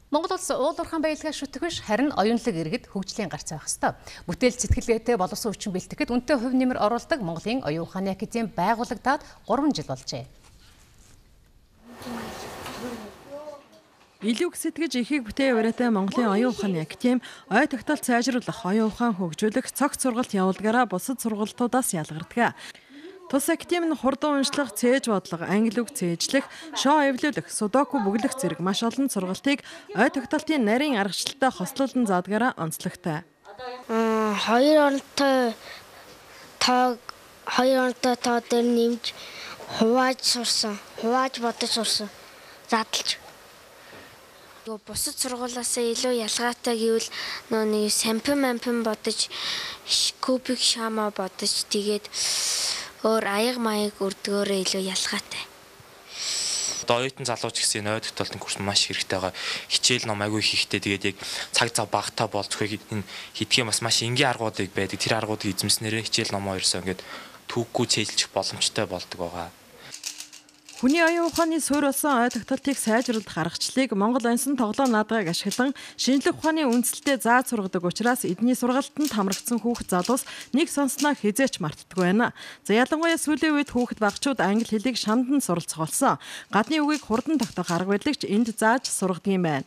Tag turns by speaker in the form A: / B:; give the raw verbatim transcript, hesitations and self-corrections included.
A: Монгол улс уулуурхаан баялгаа шүтгэж харин оюунлаг иргэд хөгжлийн гарц байх ёстой. Бүтээл сэтгэлгээтэй боловсон хүчин бэлтгэхэд үнэтэй хувь нэмэр оруулдаг Монголын оюун ухааны академи байгуулагдаад гурван жил болжээ.
B: Илүү сэтгэж ихийг бүтээ ураатай Монголын оюун ухааны академи ой тогтолт сайжруулах, оюун ухаан хөгжүүлэх, цогц сургалт явуулгаараа бусад сургалтуудаас ялгардаг. Тус академи нь хурдан уншлах, цээж бодлого, англи үг цээжлэх, шоу эвлүүлэх, судоку бүглэх зэрэг маш олон сургалтыг ой тогтолтын нарийн аргачлалтай хослуулан заадгаараа онцлогтой.
C: Хоёр оронтой тоо хоёр оронтой тоо дээр нэмж хувааж сурсан, хувааж бодож сурсан, задлж. Бусад сургуулиасаа илүү ялгаатай гэвэл нөө нэг сампин ампин бодож, кубик шама бодож тэгээд өөр аяг маяг өрдгөөрөө илүү ялгаатай.
D: Одоо оюутан залууч гэсэн ой тогтолтын курс маш хэрэгтэй байгаа. Хичээл ном аягүй хийхтэй тэгээд яг цаг зав багтаа болцохыг энэ хийдгээ бас маш энгийн аргуудыг байдаг. Тэр аргуудыг эзэмснээрээ хичээл номоо ерөөсөө ингээд түүхгүй цээжлэх боломжтой болдог байгаа.
B: Хүний оюун ухааны суурь болсон ой тогтолтыг сайжруулах аргачлалыг Монгол онсон тоглоом наадгыг ашиглан шинжлэх ухааны үндэслэлтэй зааж сургадаг учраас эдний сургалтанд хамрагдсан хүүхэд залуус нэг сонсноо хизээч мартдаггүй байна. За ялангуяа сүүлийн үед хүүхэд багчууд англи хэлийг шандан суралцах болсон. Гадны үгийг хурдан тогтоох арга барилыг энд зааж сургадаг юм байна.